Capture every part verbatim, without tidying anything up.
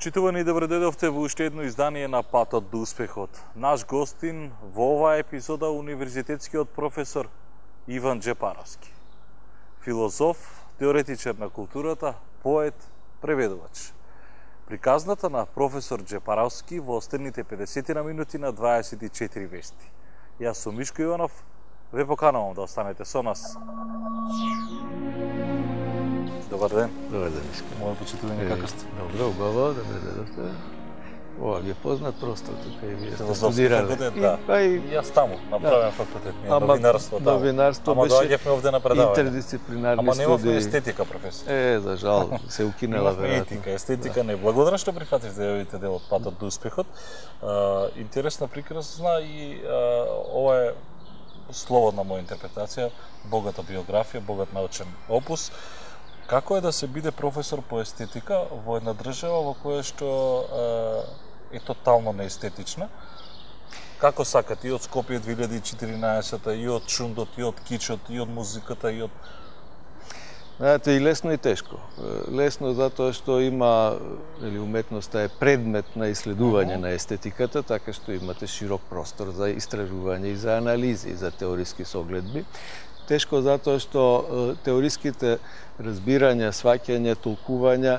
Почитувани, добро дојдовте во уште едно издание на Патот до успехот. Наш гостин во оваа епизода универзитетскиот професор Иван Джепаровски. Филозоф, теоретичар на културата, поет, преведувач. Приказната на професор Джепаровски во остарните педесет на минути на дваесет и четири вести. Јас сум Мишко Иванов, ве поканувам да останете со нас. Добар ден. Добар ден, Мишко. Моје почитувани, како сте? Добро, убаво, добре дојдовте. Ова ви е познат простор, тука и вие сте студирале. студирале. Да. Па и Јас таму, направен факултет, ние Ама, новинарство таму. новинарство Ама беше доаѓавме овде на предавање. интердисциплинарни Ама немавме студии. естетика, професор. Е, за жал, се укинела Имавме веројатно. етика, естетика не. Благодарам што прифативте да јавите дел од Патот до успехот. А, интересна, прекрасна и а, ова е слободна моја интерпретација, богата биографија, богат научен опус. Како е да се биде професор по естетика во една држава во која што е, е тотално неестетична? Како сакате и од Скопје две илјади и четиринаесета, и од шундот, и од кичот, и од музиката, и од... Знаете, и лесно и тешко. Лесно затоа што има, или уметноста е предмет на исследување на естетиката, така што имате широк простор за истражување и за анализи, и за теориски согледби. Тешко затоа што теориските разбирања, сваќања, толкувања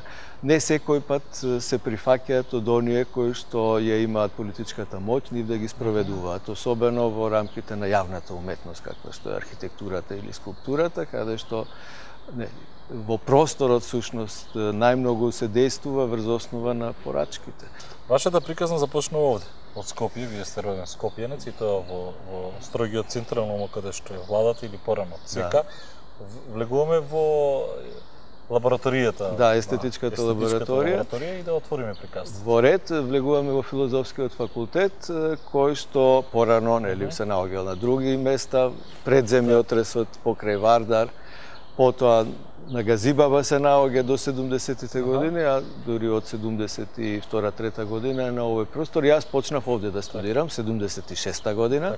не секој пат се прифаќаат од оние кои што ја имаат политичката моќ, нив да ги спроведуваат, особено во рамките на јавната уметност, каква што е архитектурата или скулптурата, каде што не, во просторот сушност најмногу се действува врз основа на порачките. Вашата приказна започнува овде, од Скопје, вие сте роден скопјенец и тоа во, во строгиот централно каде што е владата или порано ЦК. Да. Влегуваме во лабораторијата. Да, естетичката, на, лабораторија. лабораторија и да отвориме приказната. Во ред влегуваме во филозофскиот факултет, кој што порано нели се наоѓал на други места, пред земјотресот покрај Вардар, потоа на Газибаба се наоѓа до седумдесетите години, а дури од седумдесет и втора трета година е на овој простор. Јас почнав овде да студирам, седумдесет и шеста година.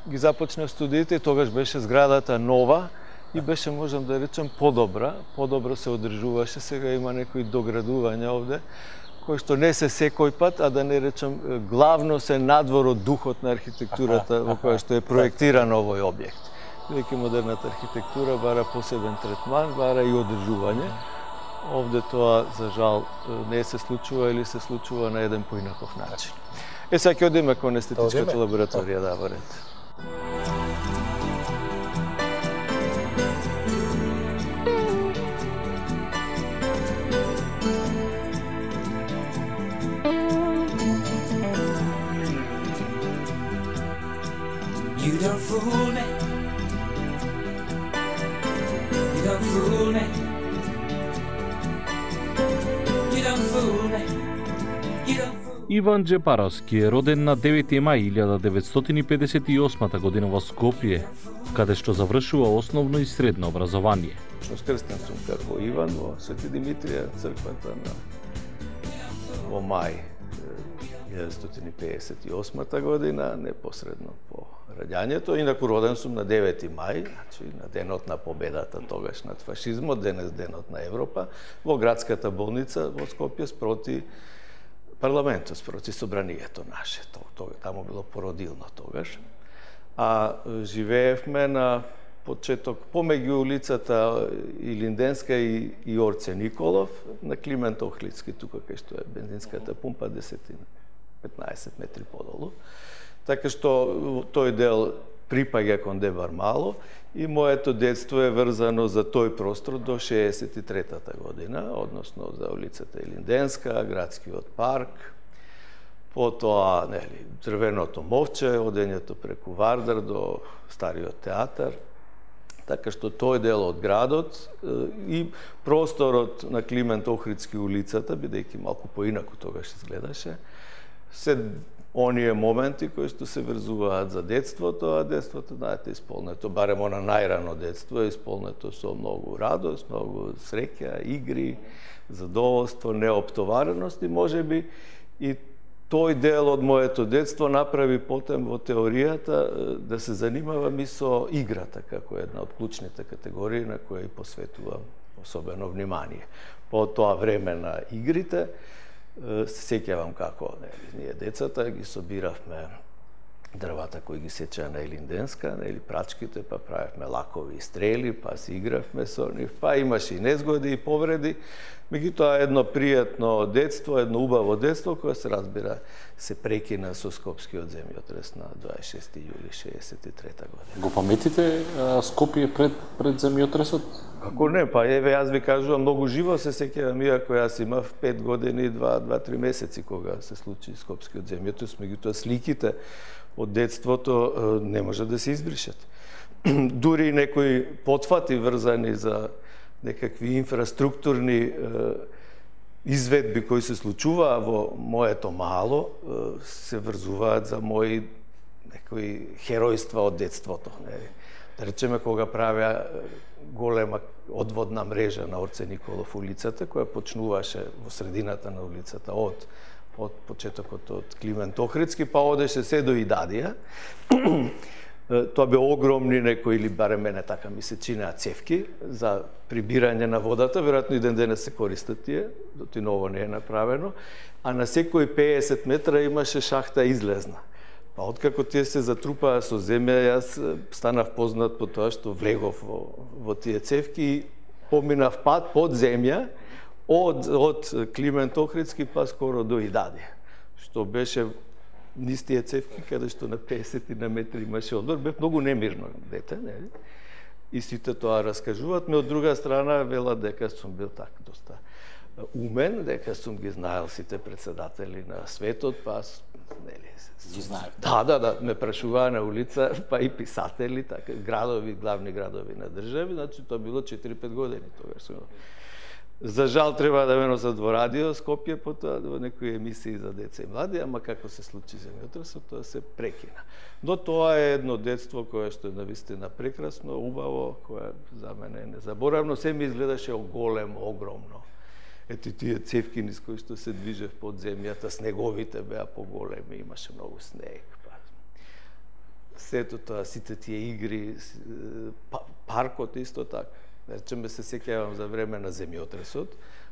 Ги започнав студиите и тогаш беше зградата нова и беше, можам да речем, подобра. Подобро се одржуваше, сега има некои доградувања овде, кои што не се секој пат, а да не речем, главно се надвор од духот на архитектурата во која што е проектиран овој објект. Веќе модерната архитектура бара посебен третман, бара и одржување. Овде тоа, за жал, не се случува или се случува на еден поинаков начин. Е, сега ќе одиме кон естетичката лабораторија, да, во ред. You don't fool me. You don't fool me. You don't fool me. You don't fool me. Иван Джепаровски е роден на девети мај илјада деветстотини педесет и осма година во Скопје, каде што завршува основно и средно образование. Скрстен сум како Иван во Свети Димитрија, црквата на во мај деветстотини педесет и осма година, непосредно по раѓањето. Инаку роден сум на девети мај, значи на денот на победата тогаш над фашизмот, денес денот на Европа, во градската болница во Скопје спроти парламентот, спроти собранието наше. Тога таму било породилно тогаш. А живеевме на почеток помеѓу улицата Илинденска и, и Орце Николов, на Климент Охлицки, тука кај што е бензинската пумпа, десетина петнаесет метри подолу. Така што тој дел припаѓа кон Дебар Мало и моето детство е врзано за тој простор до шеесет и третата година, односно за улицата Илинденска, градскиот парк, потоа, нели, Дрвеното мовче, одењето преку Вардар до Стариот театар. Така што тој дел од градот и просторот на Климент Охридски улицата, бидејќи малку поинаку тогаш изгледаше, се оние моменти кои што се врзуваат за детството, а детството, знаете, исполнето, барем она најрано детство, е исполнето со многу радост, многу среќа, игри, задоволство, неоптовареност и можеби и тој дел од моето детство направи потем во теоријата да се занимавам и со играта, како една од клучните категории на која и посветувам особено внимание. По тоа време на игрите, се сеќавам како нели, ние децата ги собиравме дрвата кои ги сечеа на Елинденска, нели прачките, па правевме лакови и стрели, па си игравме со нив, па имаше и незгоди и повреди. Меѓутоа едно пријатно детство, едно убаво детство кое се разбира се прекина со Скопскиот земјотрес на дваесет и шести јули шеесет и трета година. Го паметите а, Скопје пред пред земјотресот? Како не, па еве јас ви кажувам многу живо се сеќавам, иако јас имав пет години, два два три месеци кога се случи Скопскиот земјотрес, меѓутоа сликите од детството не може да се избришат. Дури некои потфати врзани за некакви инфраструктурни е, изведби кои се случуваа во моето мало, е, се врзуваат за мои некои херојства од детството. Не? Да речеме, кога правеа голема одводна мрежа на Орце Николов улицата, која почнуваше во средината на улицата од од почетокот од Климент Охридски, па одеше се до Идадија. Тоа бе огромни некои, или барем мене така ми се чинеа, цевки за прибирање на водата, веројатно и ден денес се користат тие, доти ново не е направено, а на секои пеесет метра имаше шахта излезна. Па откако тие се затрупаа со земја, јас станав познат по тоа што влегов во, во тие цевки и поминав пат под земја од, од Климент Охридски па скоро до Идадија, што беше низ тие цевки, каде што на пеесет на метри имаше одбор, бев многу немирно дете, нели? И сите тоа раскажуваат, ме од друга страна велат дека сум бил така доста умен, дека сум ги знаел сите председатели на светот, па нели, ги знаев. Да, да, да, ме прашуваа на улица, па и писатели, така градови, главни градови на држави, значи тоа било четири-пет години тогаш сум. За жал треба да ме носат во радио Скопје, потоа во некои емисии за деца и млади, ама како се случи земјотресот, тоа се прекина. Но тоа е едно детство кое што е навистина прекрасно, убаво, кое за мене е незаборавно, се ми изгледаше голем, огромно. Ето тие цевки низ кои што се движев под земјата, снеговите беа поголеми, имаше многу снег. Па. Сето тоа, сите тие игри, паркот исто така. Речеме се сеќавам за време на земјотресот,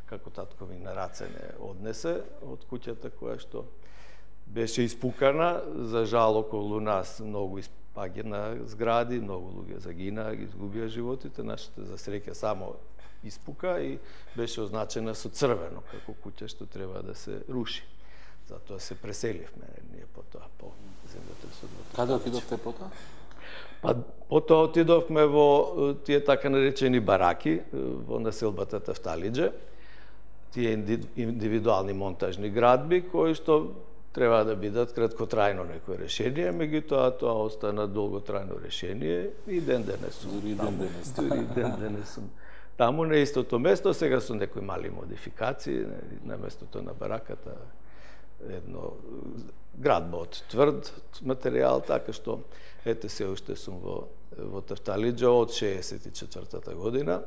како татко ми на раце не однесе од куќата која што беше испукана. За жал околу нас многу испагина згради, многу луѓе загинаа, ги изгубија животите. Нашата за среќа само испука и беше означена со црвено како куќа што треба да се руши. Затоа се преселивме ние потоа по земјотресот. Каде отидовте потоа? Па потоа отидовме во тие така наречени бараки во населбата Тефталиџе, тие индивидуални монтажни градби кои што треба да бидат краткотрајно некое решение, меѓутоа тоа остана долготрајно решение и ден денес сум. Дури ден денес. Дури ден денес сум. Таму на истото место, сега со некои мали модификации, на местото на бараката едно градба од тврд материјал, така што ете се уште сум во, во Тефталиџе од шеесет и четвртата година,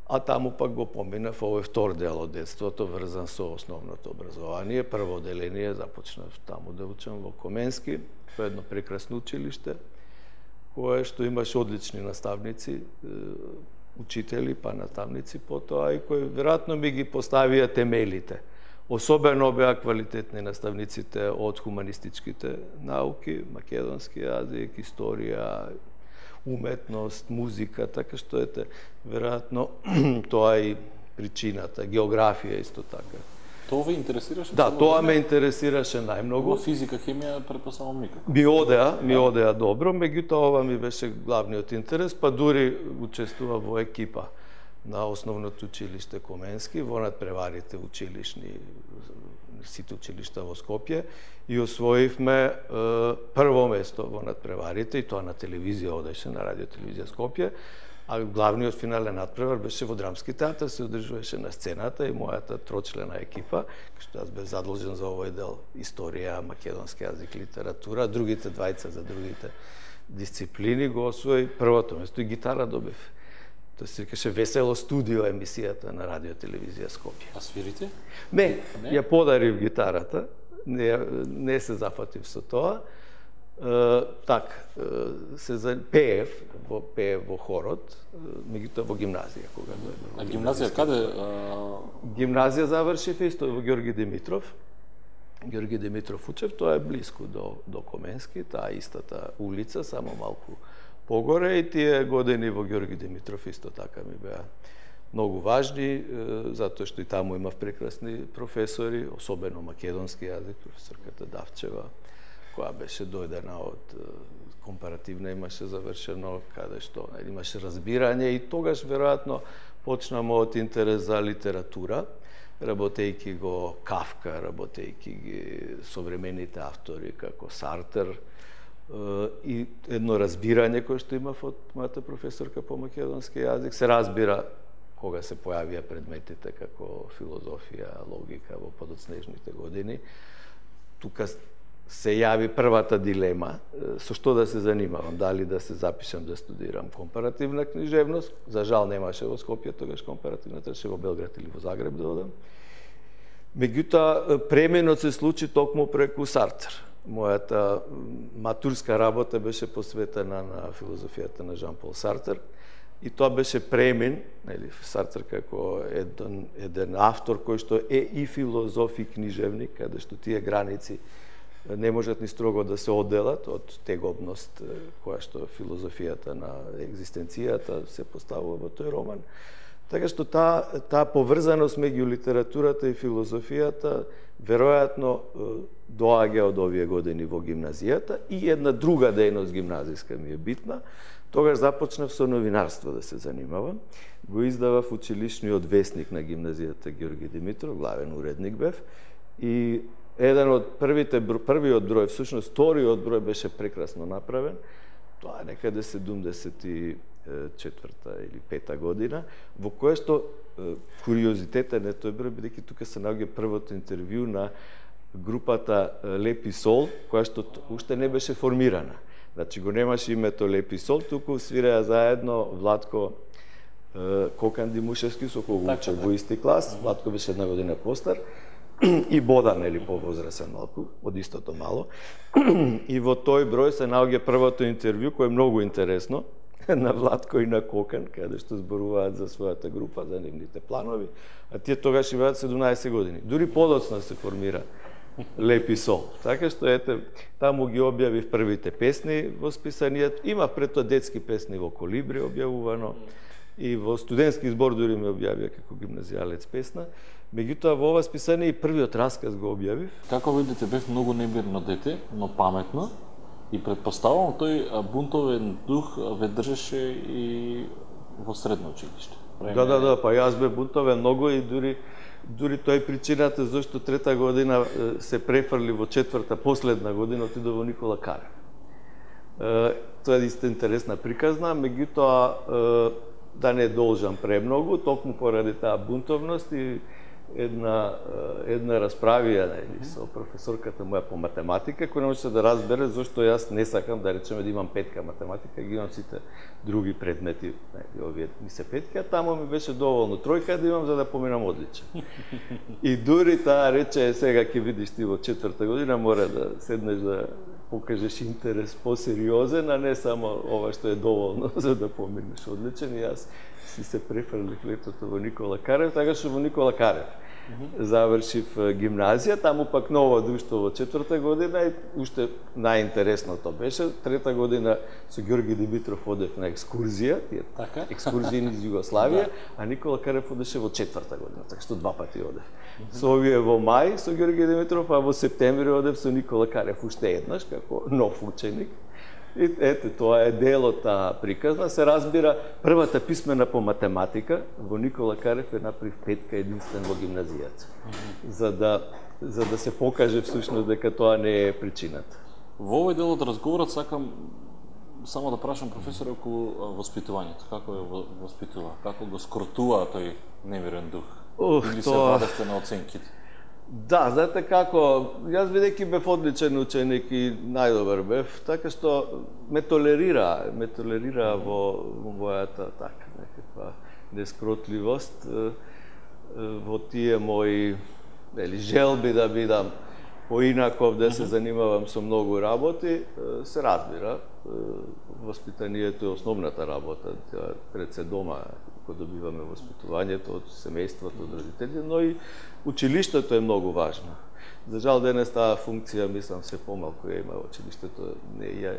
а таму пак го поминав овој втор дел од детството, врзан со основното образование. Прво оделение започнав таму да учам во Коменски, во едно прекрасно училиште, кое што имаше одлични наставници, учители, па наставници потоа, и кои веројатно ми ги поставија темелите. Особено беа квалитетни наставниците од хуманистичките науки, македонски јазик, историја, уметност, музика, така што ете, веројатно тоа е и причината, географија исто така. Тоа ве интересираше? Да, тоа ме интересираше најмногу. Во физика, хемија, претпоставам никако. Ми одеа, ми одеа добро, меѓутоа ова ми беше главниот интерес, па дури учествува во екипа на основното училиште Коменски, во надпреварите училишни, сите училишта во Скопје, и освоивме е, прво место во надпреварите, и тоа на телевизија одеше, на радио телевизија Скопје, а главниот финален надпревар беше во Драмски театар, се одржуваше на сцената и мојата трочлена екипа, што јас бев задолжен за овој дел историја, македонски јазик, литература, другите двајца за другите дисциплини го освои првото место и гитара добив. Тоа се викаше Весело студио емисијата на радио телевизија Скопје. А свирите? Не, Не? ја подарив гитарата, не, не се зафатив со тоа. Uh, так, uh, се за пеев, во пеев во хорот, меѓутоа во гимназија кога дојдов. А гимназија каде? Гимназија завршив исто во Ѓорги Димитров. Ѓорги Димитров учев, тоа е блиску до до Коменски, таа истата улица, само малку погоре, и тие години во Ѓорги Димитров исто така ми беа многу важни, затоа што и таму имав прекрасни професори, особено македонски јазик, професорката Давчева, која беше дојдена од компаративна, имаше завршено, каде што имаше разбирање, и тогаш веројатно почна мојот интерес за литература, работејќи го Кафка, работејќи ги современите автори како Сартер, и едно разбирање кое што имав од мојата професорка по македонски јазик. Се разбира кога се појавија предметите како филозофија, логика во подоцнежните години. Тука се јави првата дилема со што да се занимавам, дали да се запишам да студирам компаративна книжевност. За жал немаше во Скопје тогаш компаративна, требаше во Белград или во Загреб да одам. Меѓутоа пременот се случи токму преку Сартер. Мојата матурска работа беше посветена на филозофијата на Жан-Пол Сартер, и тоа беше премен, нели, Сартер како еден еден автор кој што е и филозоф и книжевник, каде што тие граници не можат ни строго да се одделат од тегобност која што филозофијата на екзистенцијата се поставува во тој роман. Така што таа таа поврзаност меѓу литературата и филозофијата веројатно доаѓа од овие години во гимназијата, и една друга дејност гимназиска ми е битна. Тогаш започнав со новинарство да се занимавам. Го издавав училишниот весник на гимназијата Ѓорги Димитров, главен уредник бев, и еден од првите, првиот број, всушност вториот број беше прекрасно направен. Тоа е некаде седумдесет и четврта или пета година, во кое што куриозитетен е тој број, бидејќи тука се наоѓа првото интервју на групата Лепи Сол, која што уште не беше формирана. Значи го немаше името Лепи Сол, туку свиреа заедно Владко Кокан Димушевски, со кого учев во исти клас. Владко беше една година постар, и Бодан, или повозрасен малку, од истото мало. И во тој број се наоѓа првото интервју, кое е многу интересно, на Владко и на Кокан, каде што зборуваат за својата група, за нивните планови, а тие тогаш имаат седумнаесет години. Дури подоцна се формира Лепи Сол. Така што, ете, таму ги објавив првите песни во списанијата. Има пред тоа детски песни во Колибри објавувано, и во студентски збор дури ме објавија како гимназијалец песна. Меѓутоа, во ова списание и првиот расказ го објавив. Како видите, бев многу немирно дете, но паметно, и предпоставувам тој бунтовен дух ве држеше и во средно училиште. Да, да, да, па јас бев бунтовен многу, и дури дури тоа е причината зашто трета година се префрли во четврта, последна година, отидов во Никола Карев. Тоа е исто интересна приказна, меѓутоа да не должам премногу, токму поради таа бунтовност и една една расправија, нели, со професорката моја по математика, која не можеше да разбере зашто јас не сакам, да речеме, да имам петка математика, ги имам сите други предмети, нели, овие ми се петки, а таму ми беше доволно тројка да имам за да поминам одличен. И дури таа рече, сега ќе видиш ти во четврта година мора да седнеш да покажеш интерес посериозен, а не само ова што е доволно за да поминеш одличен. И јас си се префрлив летото во Никола Карев, така што во Никола Карев завршив гимназија, таму пак ново друштво во четврта година, и уште најинтересното беше, трета година со Ѓорги Димитров одев на екскурзија, тие така екскурзии низ Југославија, а Никола Карев одеше во четврта година, така што два пати одев. Со овие во мај со Ѓорги Димитров, а во септември одев со Никола Карев уште еднаш како нов ученик. И ете, тоа е дел од таа приказна. Се разбира, првата писмена по математика во Никола Карев е направив петка единствен во гимназијата. За да за да се покаже всушност дека тоа не е причината. Во овој дел од разговорот сакам само да прашам професор околу воспитувањето. Како е воспитува? Како го скротува тој немирен дух? Ух, Или тоа... се вадевте на оценките? Да, знаете како, јас бидејќи бев одличен ученик и најдобар бев, така што ме толерира, ме толерира во, во мојата така некаква нескротливост, во тие мои, нели, желби да бидам поинаков да се занимавам со многу работи, се разбира. Воспитанието е основната работа, пред се дома, кога добиваме воспитувањето од семејството, од родителите, но и училиштето е многу важно. За жал денес таа функција, мислам, се помалку ја има училиштето, не ја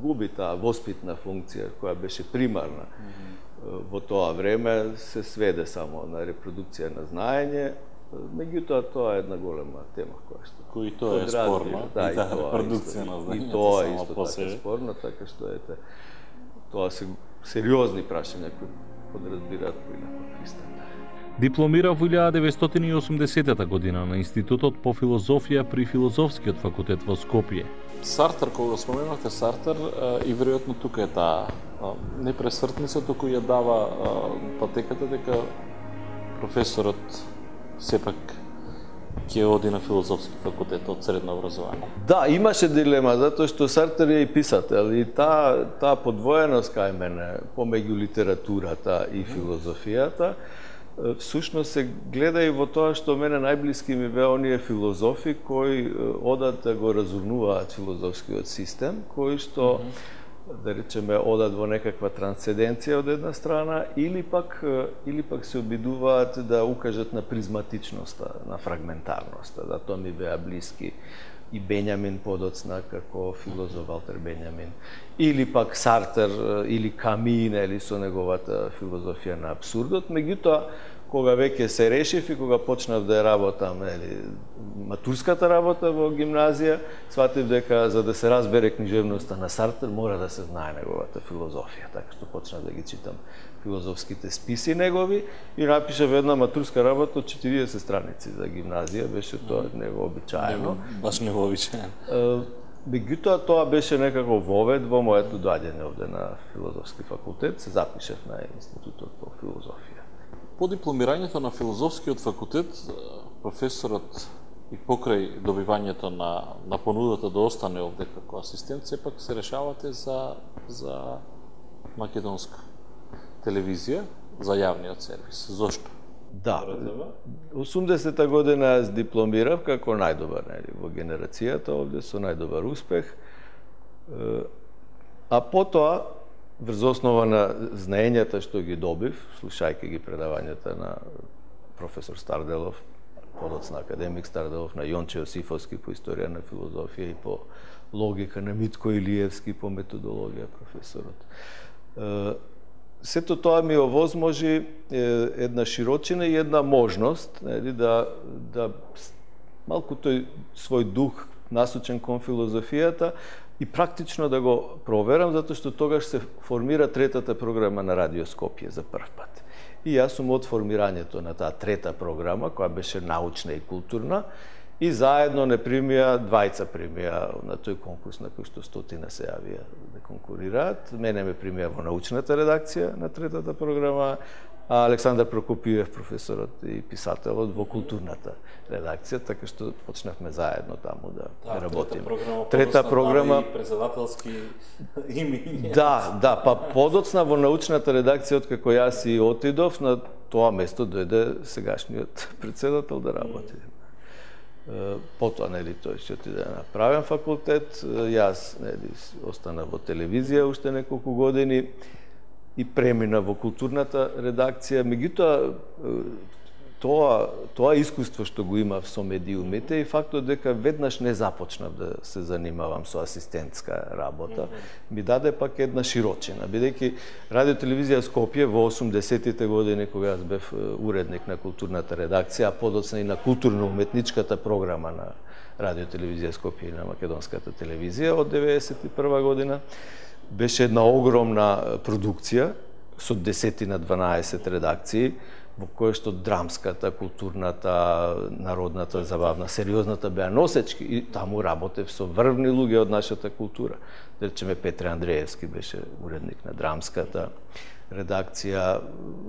губи таа воспитна функција која беше примарна. Mm -hmm. Во тоа време се сведе само на репродукција на знаење, меѓутоа тоа е една голема тема која што кој тоа е спорно, да, и таа тоа репродукција на знаењето и тоа е само исто по така себе спорно, така што ете тоа се сериозни прашања кои подразбираат поинаков пристап. Дипломира во илјада деветстотини и осумдесетата година на Институтот по филозофија при Филозофскиот факултет во Скопје. Сартер, кога споменавте Сартер, и веројатно тука е таа не пресвртница, туку ја дава патеката дека професорот сепак ќе оди на Филозофски факултет од средно образование. Да, имаше дилема, затоа што Сартер е и писател и таа таа подвоеност кај мене помеѓу литературата и филозофијата всушност се гледа и во тоа што мене најблиски ми беа оние филозофи кои одат да го разумнуваат филозофскиот систем, кои што mm -hmm. да речеме одат во некаква трансценденција од една страна или пак или пак се обидуваат да укажат на призматичноста, на фрагментарноста, да тоа ми беа блиски и Бенјамин подоцна како филозоф Валтер Бенјамин, или пак Сартер или Ками, или со неговата филозофија на абсурдот. Меѓутоа, кога веќе се решив и кога почнав да ја работам, нели, матурската работа во гимназија, сватив дека за да се разбере книжевноста на Сартер мора да се знае неговата филозофија, така што почнав да ги читам филозофските списи негови и напишав една матурска работа од четириесет страници за гимназија, беше тоа невообичаено. Баш невообичаено. Меѓутоа тоа беше некако вовед во моето доаѓање овде на Филозофски факултет, се запишав на Институтот по филозофија. По дипломирањето на Филозофскиот факултет, професорот и покрај добивањето на, на понудата да остане овде како асистент, сепак се решавате за, за македонска телевизија, за јавниот сервис. Зошто? Да, осумдесета година јас дипломирав како најдобар, нели, во генерацијата овде со најдобар успех. А потоа, врз основа на знаењата што ги добив, слушајќи ги предавањата на професор Старделов, подоцна академик Старделов, на Јонче Јосифовски по историја на филозофија и по логика, на Митко Илиевски по методологија професорот. Сето тоа ми овозможи една широчина и една можност, нели, да, да малку тој свој дух насочен кон филозофијата и практично да го проверам, затоа што тогаш се формира третата програма на Радио Скопје за прв пат. И јас сум од формирањето на таа трета програма, која беше научна и културна, и заедно не примија, двајца примија на тој конкурс на кој што стотина се јавија да конкурираат. Мене ме примија во научната редакција на третата програма, а Александар Прокопиев, професорот и писателот, во културната редакција, така што почнавме заедно таму да, да работиме. Трета програма, трета програма и председателски имиња. Да, да, па подоцна во научната редакција, откако јас и отидов, на тоа место дојде сегашниот председател да работи. Потоа, нели, тој ќе отиде на правен факултет, јас, нели, остана во телевизија уште неколку години и премина во културната редакција. Меѓутоа, тоа, тоа искуство што го имав со медиумите и фактот дека веднаш не започнав да се занимавам со асистентска работа, ми даде пак една широчина, бидејќи Радио телевизија Скопје во осумдесетите години, кога јас бев уредник на културната редакција, а подоцна и на културно-уметничката програма на Радио телевизија Скопје и на македонската телевизија од деветдесет и прва година, беше една огромна продукција со десетина дванаесет редакции, во која што драмската, културната, народната, забавна, сериозната беа носечки и таму работев со врвни луѓе од нашата култура. Да речеме, Петре Андреевски беше уредник на драмската редакција,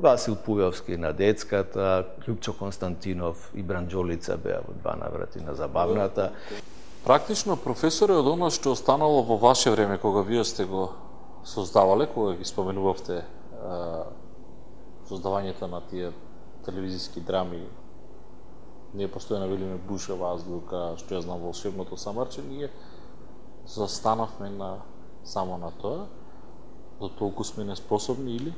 Васил Пујовски на детската, Љупчо Константинов и Бранџолица беа во два наврати на забавната. Практично, професоре, од оно што останало во ваше време, кога вие сте го создавале, кога ги споменувавте создавањето на тие телевизиски драми ние постојано велиме бушева азбука, што ја знам волшебното самарче, ние застанавме на само на тоа, до толку сме неспособни или?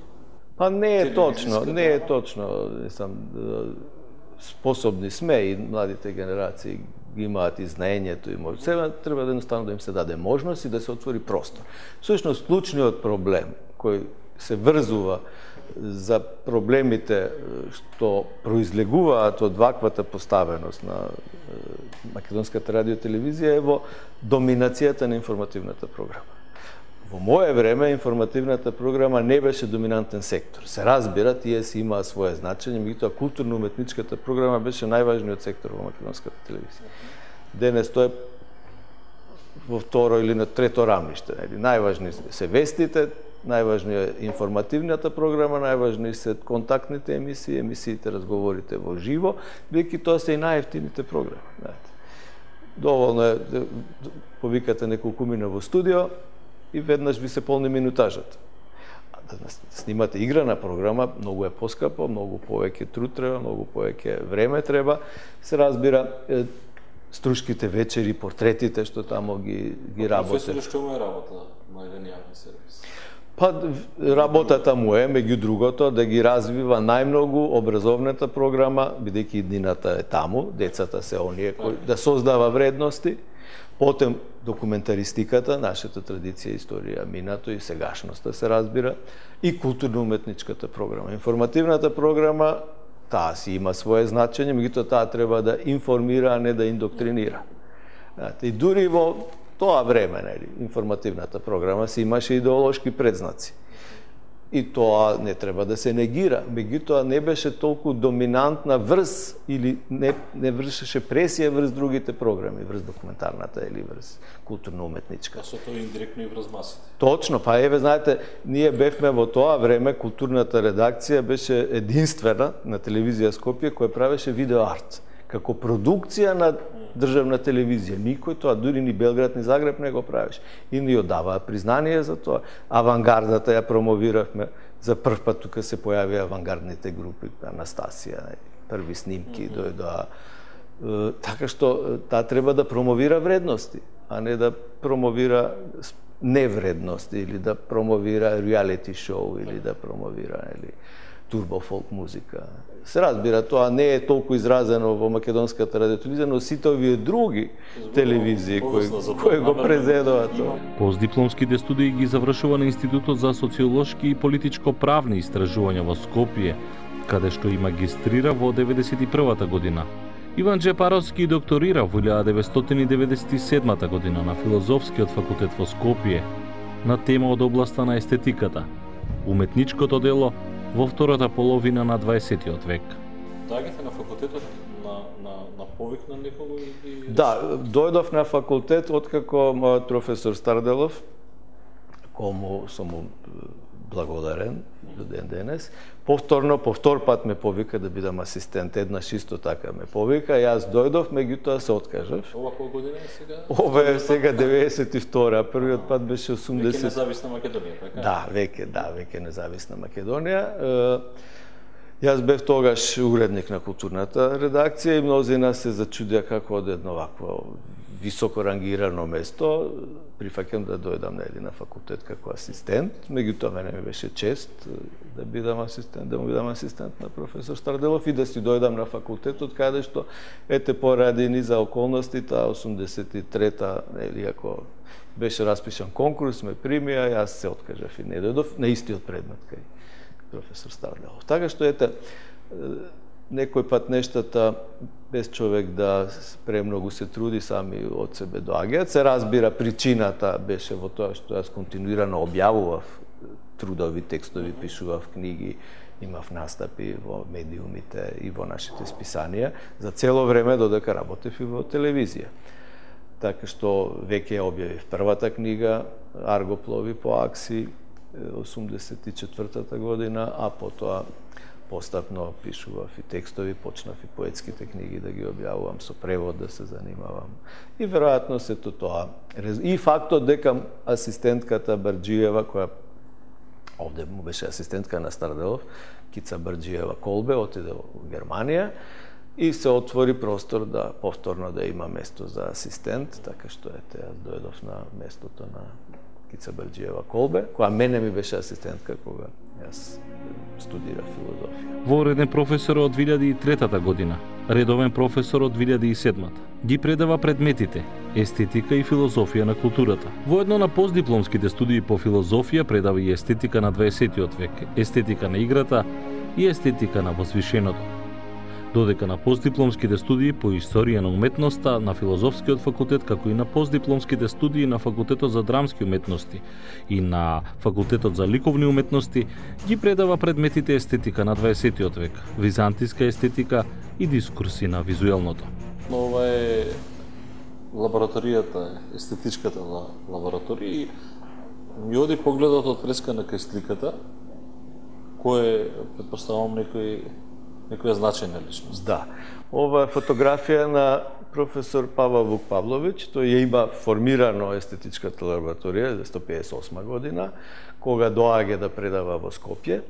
Па не е точно, не е точно, сам способни сме и младите генерации ги имаат и знаењето и може. Сега треба да едноставно да им се даде можност и да се отвори простор. Всушност, клучниот проблем кој се врзува за проблемите што произлегуваат од ваквата поставеност на македонската радиотелевизија е во доминацијата на информативната програма. Во мое време информативната програма не беше доминантен сектор. Се разбира, тие си имаа свое значење, меѓутоа културно-уметничката програма беше најважниот сектор во македонската телевизија. Денес тоа е во второ или на трето рамниште. Најважни се вестите, најважни е информативната програма, најважни се контактните емисии, емисиите, разговорите во живо, бидејќи тоа се и најевтините програми. Доволно е да повикате неколку мина во студио и веднаш ви се полни минутажата. Да снимате играна програма, многу е поскапо, многу повеќе труд треба, многу повеќе време треба. Се разбира, струшките вечери, портретите што тамо ги, ги работе. Професор, што му е работа на еден јавен сервис? Па, работата му е, меѓу другото, да ги развива најмногу образовната програма, бидејќи иднината е таму, децата се оние кои да создава вредности, потем документаристиката, нашата традиција, историја, минато и сегашноста се разбира, и културно-уметничката програма. Информативната програма, таа си има свое значење, меѓутоа таа треба да информира, а не да индоктринира. И дури во тоа време, нели, информативната програма си имаше идеолошки предзнаци. И тоа не треба да се негира, меѓутоа не беше толку доминантна врз или не, не вршеше пресија врз другите програми, врз документарната или врз културно-уметничка. Со тоа индиректно и врз масите. Точно, па еве, знаете, ние бевме во тоа време, културната редакција беше единствена на телевизија Скопје која правеше видеоарт како продукција на државна телевизија. Никој тоа, дури ни Белград, ни Загреб не го правеше. И ни одаваа признание за тоа. Авангардата ја промовиравме. За прв пат тука се појавија авангардните групи, Анастасија, први снимки дојдоа. Така што таа треба да промовира вредности, а не да промовира невредности или да промовира реалити шоу или да промовира или турбо фолк музика. Се разбира, тоа не е толку изразено во македонската радиотелевизија, но сите овие други телевизии кои, кои го презедуваат тоа. Постдипломските студии ги завршува на Институтот за социолошки и политичко-правни истражувања во Скопје, каде што и магистрира во деветдесет и првата година. Иван Джепаровски докторира во илјада деветстотини деветдесет и седмата година на Филозофскиот факултет во Скопје на тема од областа на естетиката, уметничкото дело во втората половина на дваесеттиот век. Доаѓате на факултетот на, на, на повик на некого? Или... Да, дојдов на факултет откако мојот професор Старделов, кому сум му благодарен до ден денес, повторно, по втор пат ме повика да бидам асистент, еднаш исто така ме повика, јас дојдов, меѓутоа се откажав. Ова која година е сега? Ова е сега деветдесет и втора, првиот пат беше осумдесет. Веќе независна Македонија, така? Да, веќе, да, веќе независна Македонија. Јас бев тогаш уредник на културната редакција и мнозина се зачудија како од едно вакво високо рангирано место прифаќам да дојдам нели на факултет како асистент, меѓутоа мене ми беше чест да бидам асистент, да му бидам асистент на професор Старделов и да си дојдам на факултетот каде што ете поради низа околностите осумдесет и трета нели ако беше распишан конкурс, ме примија, јас се откажав и не дојдов на истиот предмет кај професор Старделов. Така што ете некој пат нештата без човек да премногу се труди сами од себе доаѓаат. Се разбира, причината беше во тоа што јас континуирано објавував трудови, текстови, пишував книги, имав настапи во медиумите и во нашите списанија за цело време додека работев и во телевизија. Така што веќе објавив првата книга Аргоплови по Акси осумдесет и четвртата година, а потоа постапно пишував и текстови, почнав и поетските книги да ги објавувам, со превод да се занимавам. И веројатно сето тоа. И фактот дека асистентката Барџиева, која овде му беше асистентка на Старделов, Кица Барџиева Колбе, отиде во Германија, и се отвори простор да повторно да има место за асистент, така што ете јас дојдов на местото на Кица Барџиева Колбе, која мене ми беше асистентка кога јас студирав филозофија. Вореден професор од две илјади и трета година, редовен професор од две илјади и седмата. Ги предава предметите естетика и филозофија на културата. Воедно на постдипломските студии по филозофија предава и естетика на дваесеттиот век, естетика на играта и естетика на возвишеното. Додека на постдипломските студии по историја на уметноста на Филозофскиот факултет, како и на постдипломските студии на Факултетот за драмски уметности и на Факултетот за ликовни уметности, ги предава предметите естетика на дваесеттиот век, византиска естетика и дискурси на визуелното. Ова е лабораторијата, естетичката лабораторија и ми оди погледот од прескана кај сликата, кој предпоставам некој некоја значајна личност. Да. Ова е фотографија на професор Павел Вукпавлович, тој ја има формирано естетичката лабораторија за сто педесет и осма година, кога доаѓа да предава во Скопје.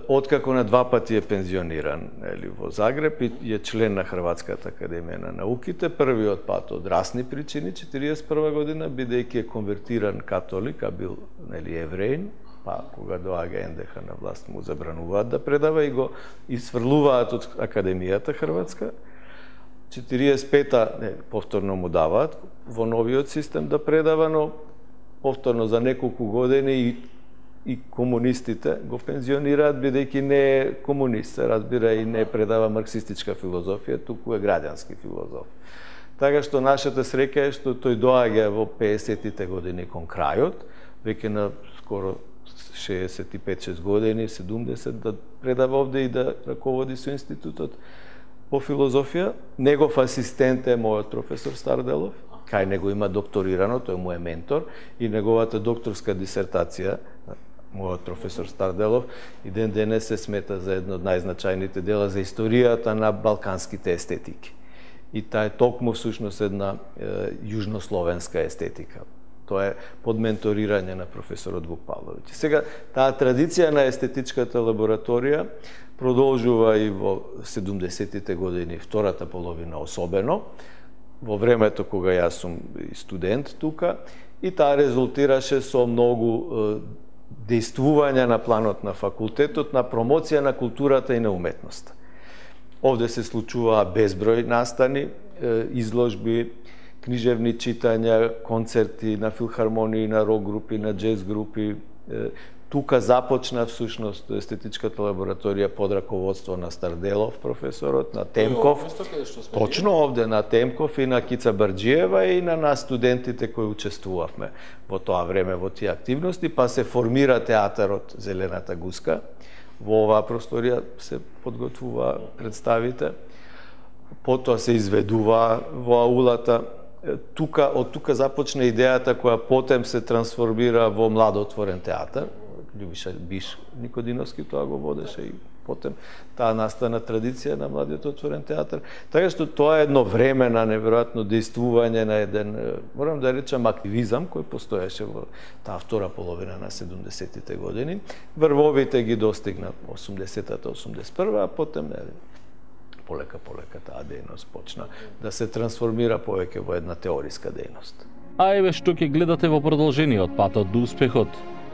Откако на два пати е пензиониран ели, во Загреб и е член на Хрватската академија на науките, првиот пат од расни причини, четириесет и прва година, бидејќи е конвертиран католик, а бил нели, евреин, па кога доаѓа ен де ха на власт му забрануваат да предава и го исфрлуваат од Академијата Хрватска. четириесет и пета не, повторно му даваат во новиот систем да предава, но повторно за неколку години и и комунистите го пензионираат, бидејќи не е комунист, се разбира, и не предава марксистичка филозофија, туку е граѓански филозоф. Така што нашата среќа е што тој доаѓа во педесеттите години кон крајот, веќе на скоро шеесет и пет шест години, седумдесет, да предава овде и да раководи со институтот по филозофија. Негов асистент е мојот професор Старделов, кај него има докторирано, тој му е ментор, и неговата докторска дисертација, мојот професор Старделов, и ден денес се смета за едно од најзначајните дела за историјата на балканските естетики. И таа е токму всушност една е, јужнословенска естетика. Тоа е под менторирање на професорот Вукпавлович. Сега, таа традиција на естетичката лабораторија продолжува и во седумдесеттите години, втората половина особено, во времето кога јас сум студент тука, и таа резултираше со многу е, дејствувања на планот на факултетот, на промоција на културата и на уметноста. Овде се случуваа безброј настани, изложби, книжевни читања, концерти на филхармонии, на рок групи, на джез групи. Тука започна всушност естетичката лабораторија под раководство на Старделов, професорот, на Темков. Точно овде на Темков и на Кица Барџиева и на нас студентите кои учествувавме во тоа време во тие активности, па се формира театарот Зелената гуска. Во оваа просторија се подготвува представите. Потоа се изведува во аулата. Тука, од тука започна идејата која потем се трансформира во младотворен театар. Љубиша Биш Никодиновски тоа го водеше и потем таа настана традиција на младиот отворен театар. Така што тоа е едно време на неверојатно дејствување на еден, морам да речам, активизам кој постоеше во таа втора половина на седумдесеттите години. Врвовите ги достигна осумдесетата осумдесет и прва, а потем не, полека полека таа дејност почна да се трансформира повеќе во една теориска дејност. А еве што ќе гледате во продолжениот патот до успехот.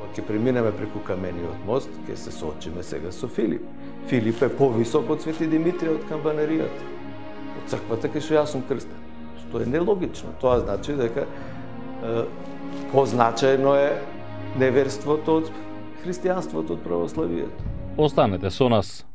Ќе преминеме преку камениот мост, ќе се соочиме сега со Филип. Филип е повисок од Свети Димитрија од камбанеријата. Од црквата кај што јас сум крстен. Што е нелогично. Тоа значи дека е, позначајно е неверството од христијанството од православието. Останете со нас.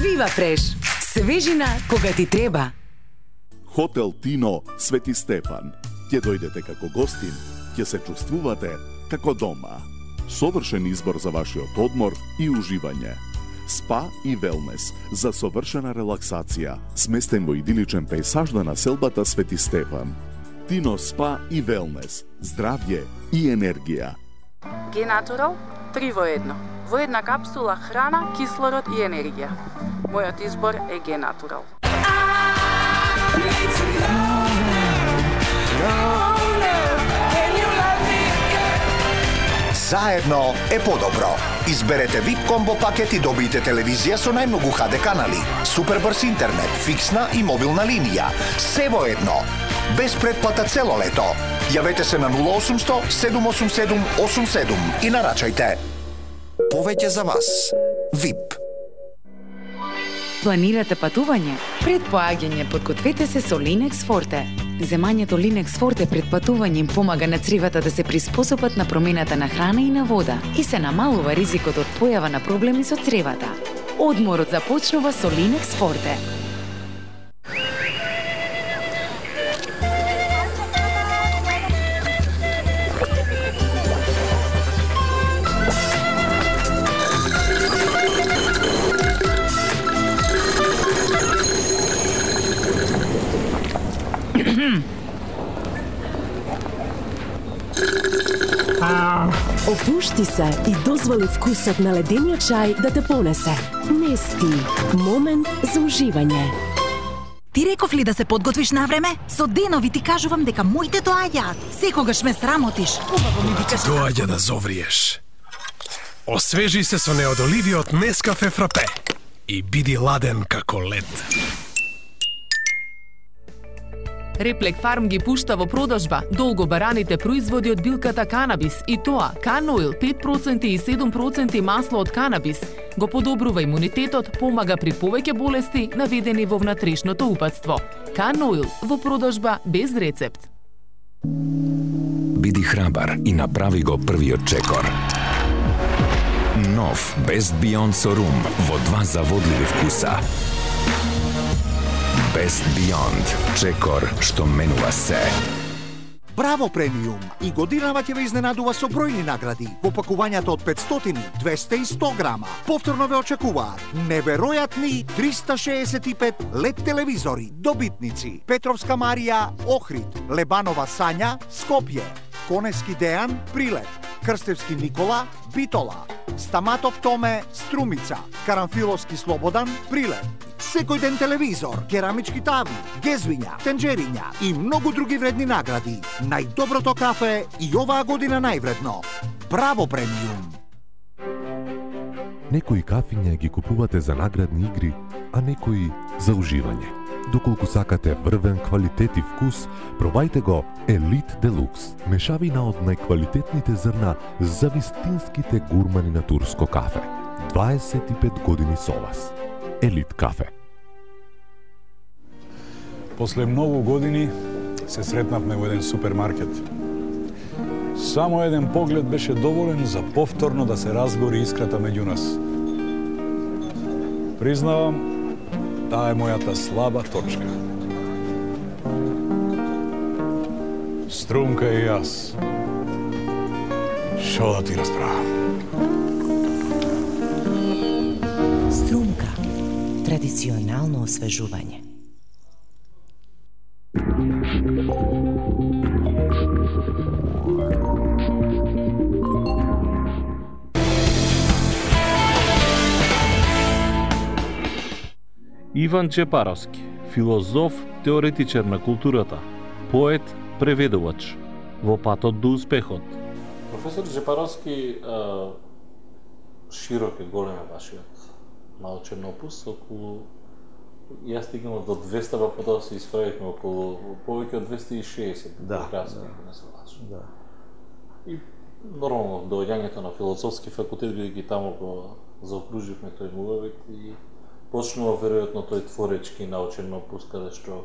Вива Фреш. Свежина кога ти треба. Хотел Тино Свети Стефан. Ќе дојдете како гостин, ќе се чувствувате како дома. Совршен избор за вашиот одмор и уживање. Спа и велнес за совршена релаксација, сместен во идиличен пејсаж на населбата Свети Стефан. Тино Спа и велнес, здравје и енергија. Генатурал три во едно. Во една капсула храна, кислород и енергија. Мојот избор е Генатурал. Заедно е подобро. Изберете вип комбо пакет и добијте телевизија со најмногу ха де канали, супер брз интернет, фиксна и мобилна линија. Се во едно. Без предплата цело лето. Јавете се на нула осумсто седум осум седум осум седум и нарачајте. Повеќе за вас. вип. Планирате патување? Пред поаѓање подгответе се со Linex Forte. Земањето Linex Forte пред патување им помага на цривата да се приспособат на промената на храна и на вода и се намалува ризикот од појава на проблеми со цревата. Одморот започнува со Linex Forte. Опушти се и дозволи вкусот на ледениот чај да те понесе. Нести. Момент за уживање. Ти реков ли да се подготвиш на време? Со денови ти кажувам дека моите доаѓаат. Секогаш ме срамотиш. Убаво ми викаш. Доаѓа да зовриеш. Освежи се со неодоливиот Нескафе Фрапе и биди ладен како лед. Реплек Фарм ги пушта во продажба долго бараните производи од билката канабис и тоа Каноил пет проценти и седум проценти масло од канабис го подобрува имунитетот, помага при повеќе болести наведени во внатрешното упатство. Каноил во продажба без рецепт. Биди храбар и направи го првиот чекор. Нов Best Beyond со рум во два заводливи вкуса. Best Beyond, чекор што менува се. Браво премиум и годинава ќе ве изненадува со бројни награди во пакувањата од петстотини, двесте и сто грама. Повторно ве очекуваат неверојатни триста шеесет и пет лед телевизори, добитници Петровска Марија, Охрид, Лебанова Сања, Скопје, Конески Дејан, Прилеп, Крстевски Никола, Битола, Стаматов Томе, Струмица, Карамфиловски Слободан, Прилеп. Секој ден телевизор, керамички тави, гезвиња, тенџериња и многу други вредни награди. Најдоброто кафе и оваа година највредно. Браво премиум! Некои кафиња ги купувате за наградни игри, а некои за уживање. Доколку сакате врвен квалитет и вкус, пробајте го Елит Делукс, мешавина од најквалитетните зрна за вистинските гурмани на турско кафе. дваесет и пет години со вас. Елит кафе. После многу години се сретнавме во еден супермаркет. Само еден поглед беше доволен за повторно да се разгори искрата меѓу нас. Признавам, таа е мојата слаба точка. Струмка и јас. Шо да ти расправам? Струмка. Традиционално освежување. Иван Чепаровски, филозоф, теоретичар на културата, поет, преведувач, во патот до успехот. Професор Чепаровски, широк е, голем е вашиот научен опус, околу јас стигнав до двеста, па потоа се исправивме околу повеќе од двесте и шеесет. Да, да, не се лажам. Да. И нормално доаѓањето на филозофски факултет, бидејќи таму го заокруживме тој муавет и почнува веројатно тој творечки научен опус каде што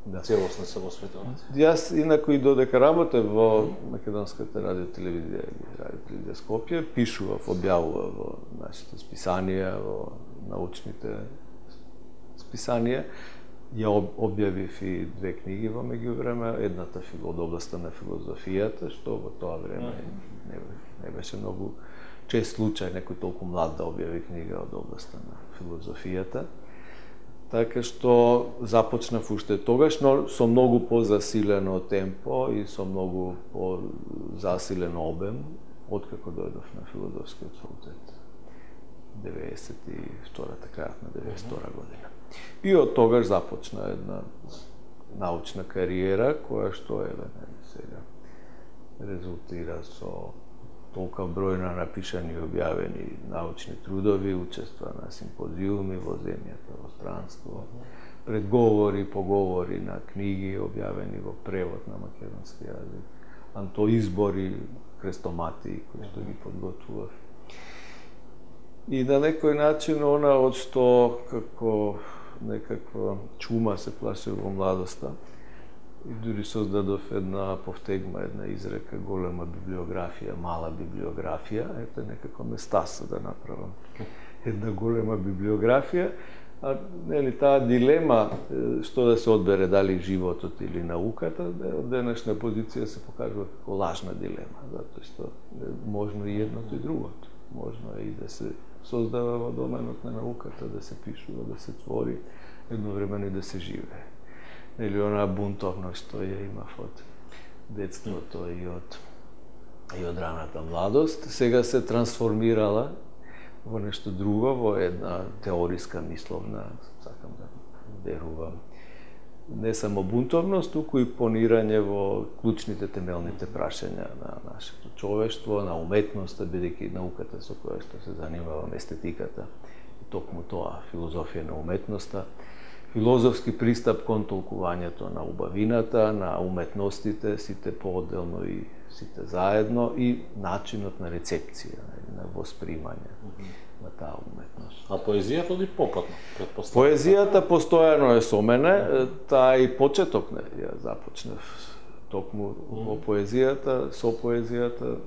да. Целосно се посветувате. Јас инаку и додека работев во Македонската радиотелевизија или радиотелевизија Скопје, пишував, објавував во нашите списанија, во научните списанија. Ја објавив и две книги во меѓувреме, едната од областа на филозофијата, што во тоа време не, не беше многу чест случај некој толку млад да објави книга од областта на филозофијата. Така што започнав уште тогаш, но со многу позасилено темпо и со многу позасилен обем, откако дојдов на филозофскиот факултет. деветдесет и втората, крајот на деветдесет и втора година. И од тогаш започна една научна кариера, која што еве сега резултира со толка број на напишани и објавени научни трудови, учества на симпозиуми во земјата, во странство, предговори, поговори на книги објавени во превод на македонски јазик, антоизбори, крестомати кои што ги подготвував. И на некој начин она од што како некаква чума се плашев во младоста, и дури создадов една повтегма, една изрека, голема библиографија, мала библиографија, ето некако ме стаса да направам една голема библиографија, а нели таа дилема што да се одбере, дали животот или науката, од денешна позиција се покажува како лажна дилема, затоа што можно и едното и другото. Можно е и да се создава во доменот на науката, да се пишува, да се твори, едновремено и да се живее. Или она бунтовност што ја имав од детството и од и од раната младост, сега се трансформирала во нешто друго, во една теориска мисловна, сакам да верувам, не само бунтовност, туку и понирање во клучните темелните прашања на нашето човештво, на уметноста, бидејќи науката со која што се занимавам, естетиката, токму тоа, филозофија на уметноста, филозофски пристап кон толкувањето на убавината, на уметностите, сите поотделно и сите заедно, и начинот на рецепција, на воспримање на таа уметност. А поезијата ли попатно, предпоставам? Поезијата постојано е со мене, таа и почеток не, ја започнав токму во поезијата, со поезијата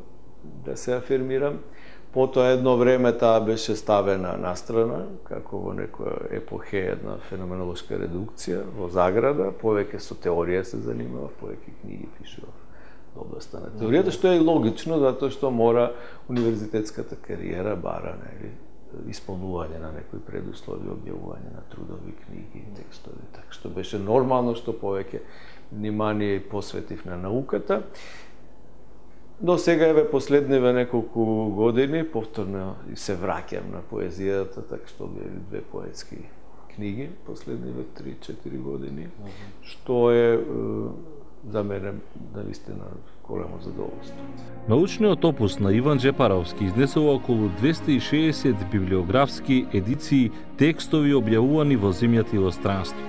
да се афирмирам. Потоа едно време таа беше ставена настрана, како во некоја епохе една феноменолошка редукција, во заграда, повеќе со теорија се занимавав, повеќе книги пишував во областта на теоријата, што е и логично, затоа што мора универзитетската кариера бара, нели, исполнување на некои предуслови, објавување на трудови, книги, текстови, така што беше нормално што повеќе внимание посветив на науката. Но сега еве последниве неколку години повторно и се враќам на поезијата, така што објавив две поетски книги последниве три-четири години, mm -hmm. што е, е за мене навистина големо задоволство. Научниот опус на Иван Джепаровски изнесува околу двесте и шеесет библиографски едиции текстови објавувани во земјата и во странство.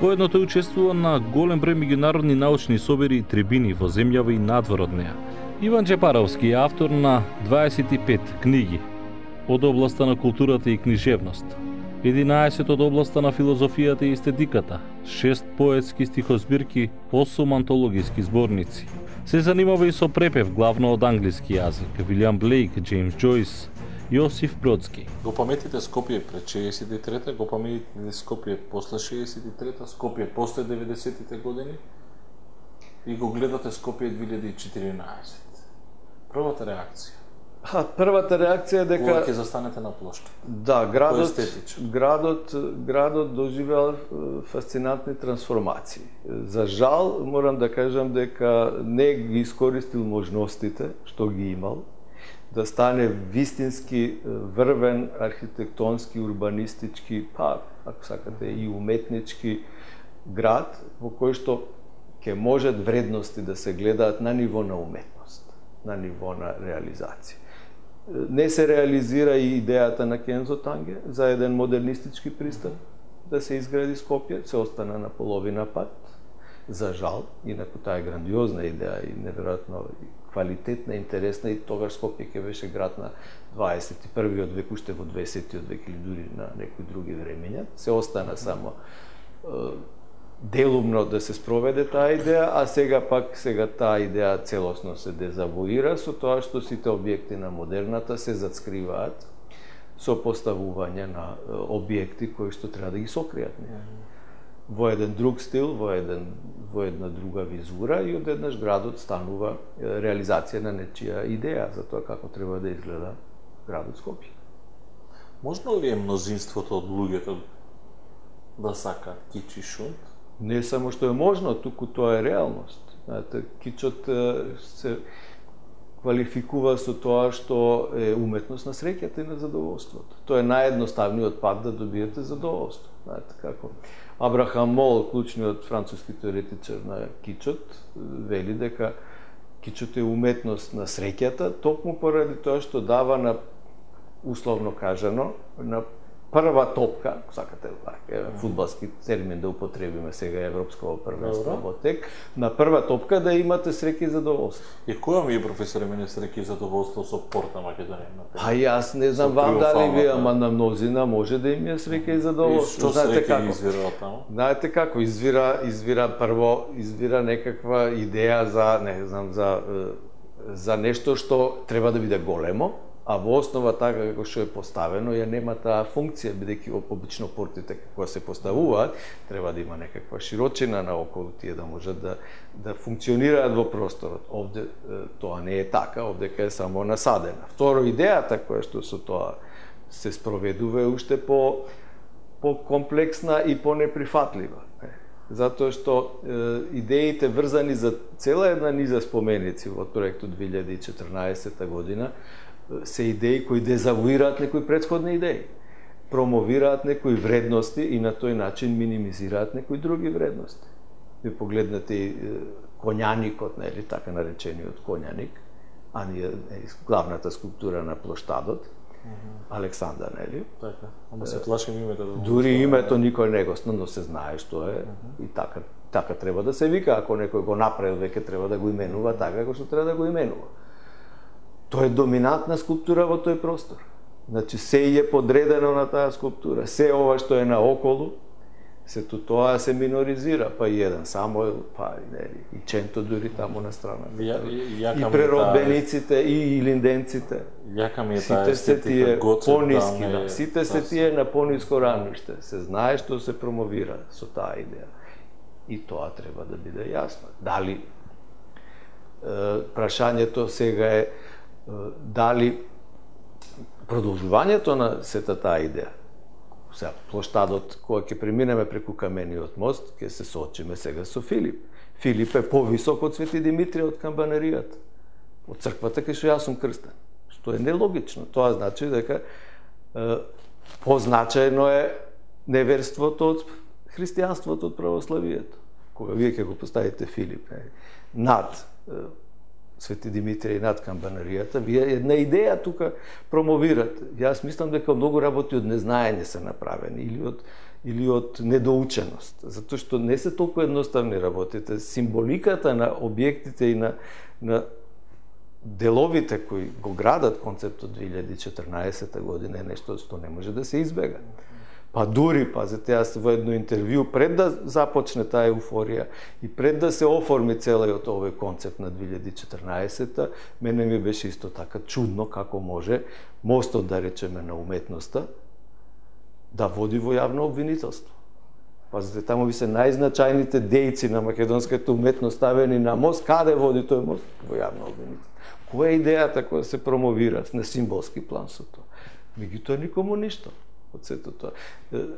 Воедно тој учествува на голем број меѓународни научни собери и трибини во земјава и надвор од неа. Иван Джепаровски е автор на дваесет и пет книги од областта на културата и книжевност, единаесет од областта на филозофијата и естетиката, шест поетски стихозбирки, осум антологиски зборници. Се занимава и со препев главно од англиски јазик, Вилијам Блейк, Джеймс Џојс, Јосиф Бродски. Го паметите Скопје пред шеесет и трета, го паметите Скопје после шеесет и трета, Скопје после деветдесетите години и го гледате Скопје две илјади и четиринаесет. Првата реакција? А, првата реакција е дека кога ќе застанете на плошта. Да, градот градот градот доживеал фасцинантни трансформации. За жал морам да кажам дека не ги искористил можностите што ги имал да стане вистински врвен архитектонски, урбанистички, па ако сакате и уметнички град во кој што ќе можат вредности да се гледаат на ниво на уметност, на ниво на реализација. Не се реализира и идејата на Кензо Танге за еден модернистички пристап да се изгради Скопје, се остана на половина пат. За жал, инаку таа е грандиозна идеја и неверојатно квалитетна, интересна, и тогаш Скопје ќе беше град на дваесет и првиот век, уште во дваесетиот век или дури на некои други времења. Се остана само делумно да се спроведе таа идеја, а сега пак сега таа идеја целосно се дезавуира со тоа што сите објекти на модерната се зацкриваат со поставување на објекти кои што треба да ги сокријат во еден друг стил, во еден во една друга визура, и одеднаш градот станува реализација на нечија идеја за тоа како треба да изгледа градот Скопје. Можно ли е мнозинството од луѓето да сакаат кич и шунт? Не само што е можно, туку тоа е реалност. Знаете, кичот се квалификува со тоа што е уметност на среќата и на задоволството. Тоа е наједноставниот пат да добиете задоволство. Знаете како Абрахам Мол, клучниот француски теоретичар на кичот, вели дека кичот е уметност на среќата, токму поради тоа што дава на, условно кажано, на прва топка, сакате е, фудбалски термин да употребиме сега европско првенство во тек, на прва топка да имате среќа и задоволство. И која ми е професоре мене среќа и задоволство со Порта Македонија? А јас не знам вам дали ви, ама на мнозина може да им е среќа и задоволство. И што среќа извира од таму? Знаете како извира, извира прво извира некаква идеја за, не знам, за за нешто што треба да биде големо, а во основа така како што е поставено, ја нема таа функција, бидејќи обично портите како се поставуваат, треба да има некаква широчина наоколу тие да можат да да функционираат во просторот. Овде тоа не е така, овде е само насадена. Второ, идејата која што со тоа се спроведува е уште по по комплексна и по неприфатлива. Затоа што е, идеите врзани за цела една низа споменици во проектот две илјади и четрнаесетта година се идеи кои дезавуираат некои претходни идеи, промовираат некои вредности и на тој начин минимизираат некои други вредности. Ви погледнете и коњаникот, нели, така наречениот коњаник, а ние главната скулптура на плоштадот, Александар, нели? Така. Ама се плашим името да. Дури името никој не го зна, но се знае што е и така така треба да се вика, ако некој го направил веќе треба да го именува така како што треба да го именува. Тоа е доминантна скулптура во тој простор. Значи се е подредено на таа скулптура, се ова што е наоколу, сето тоа се миноризира, па и еден Самуел, па и нели, и Ченто дури таму на страна. Ја, ја, и преробениците, и илинденците. Јака ми е таа естетика, пониски, да, сите се тие на пониско рамиште. Се знае што се промовира со таа идеја. И тоа треба да биде јасно. Дали прашањето сега е дали продолжувањето на сета таа идеја. Сега, плоштадот, кога ќе преминеме преку Камениот мост, ќе се соочиме сега со Филип. Филип е повисок од Свети Димитрија од камбанаријата, од црквата кај што јас сум крстен. Што е нелогично. Тоа значи дека е, позначајно е неверството од христијанството од православието. Кога вие ќе го поставите Филип не, над е, Свети Димитрија и над камбанаријата, вие една идеја тука промовирате. Јас мислам дека многу работи од незнаење се направени или од или од недоученост, затоа што не се толку едноставни работите. Символиката на објектите и на на деловите кои го градат концептот две илјади и четрнаесетта година е нешто што не може да се избега. Па дури, пазете, јас во едно интервју, пред да започне таа еуфорија и пред да се оформи целиот овој концепт на две илјади и четрнаесетта, мене ми беше исто така чудно како може мостот, да речеме, на уметноста да води во јавно обвинителство. Пазете, таму ви се најзначајните дејци на македонската уметност ставени на мост, каде води тој мост? Во јавно обвинителство. Која е идејата која се промовира на символски план со тоа? Меѓутоа никому ништо. Од сето тоа.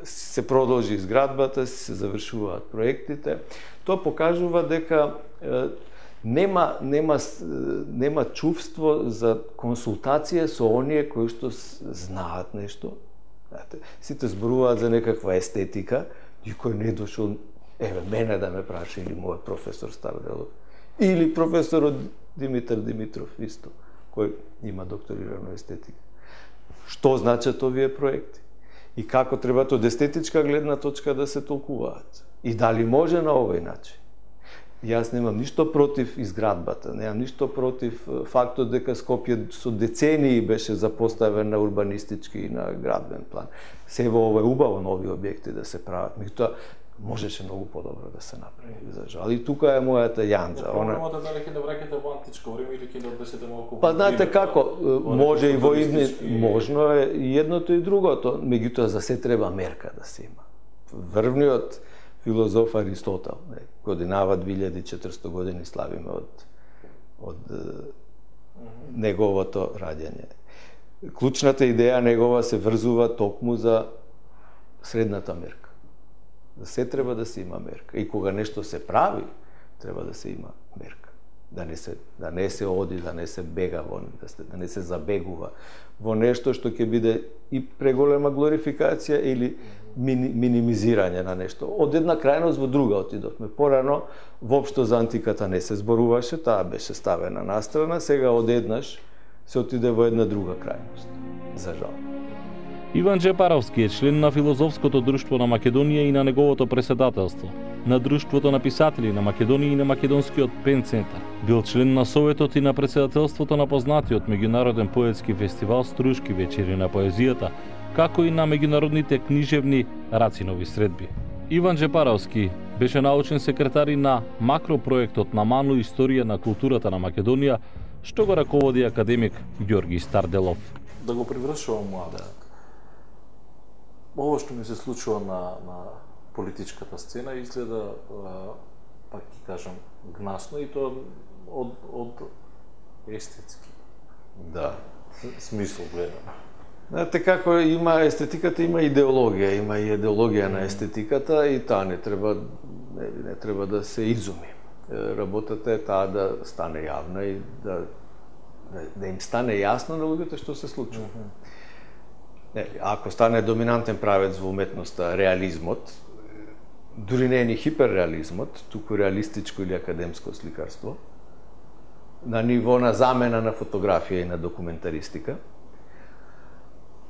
Се продолжи изградбата, се завршуваат проектите. Тоа покажува дека е, нема, нема, нема чувство за консултација со оние кои што знаат нешто. Знаете, сите зборуваат за некаква естетика, никој не дошол, еве, мене да ме праша или мојот професор Старделов, или професорот Димитар Димитров исто, кој има докторирано естетика. Што значат овие проекти? И како треба од естетичка гледна точка да се толкуваат. И дали може на овој начин. Јас немам ништо против изградбата, немам ништо против фактот дека Скопје со децении беше запоставен на урбанистички и на градбен план. Се во ова е убаво нови објекти да се прават, меѓутоа можеше многу подобро да се направи, за жал. И тука е мојата јанза. Она проблемот е дали ќе да враќате во античко време или ќе да однесете малку. Па знаете како, може и во идни, можно е и едното и другото, меѓутоа за се треба мерка да се има. Врвниот филозоф Аристотел, не, годинава две илјади и четиристотини години славиме од од mm -hmm. неговото раѓање. клучната идеја негова се врзува токму за средната мерка. За се треба да се има мерка. И кога нешто се прави, треба да се има мерка. Да не се, да не се оди, да не се бега во, да, се, да не се забегува во нешто што ќе биде и преголема глорификација или мини, минимизирање на нешто. Од една крајност во друга отидовме. Порано воопшто за антиката не се зборуваше, таа беше ставена настрана, сега одеднаш се отиде во една друга крајност. За жал. Иван Джепаровски е член на Филозофското друштво на Македонија и на неговото преседателство, на Друштвото на писатели на Македонија и на Македонскиот Пен центар. Бил член на Советот и на председателството на познатиот меѓународен поетски фестивал Струшки вечери на поезијата, како и на меѓународните книжевни Рацинови средби. Иван Джепаровски беше научен секретар и на макропроектот на Ману Историја на културата на Македонија, што го раководи академик Ѓорги Старделов. Да го привршувам младак. Ово што ми се случува на, на политичката сцена изгледа, пак ќе кажам, гнасно и тоа од, од естетски. Да. Смисол гледам. Знаете како има естетиката, има идеологија, има и идеологија на естетиката и таа не треба не, не треба да се изуми. Работата е таа да стане јавна и да да, да им стане јасно на луѓето што се случува. Mm -hmm. Не, ако стане доминантен правец во уметноста реализмот, дури не е ни хиперреализмот, туку реалистичко или академско сликарство, на ниво на замена на фотографија и на документаристика.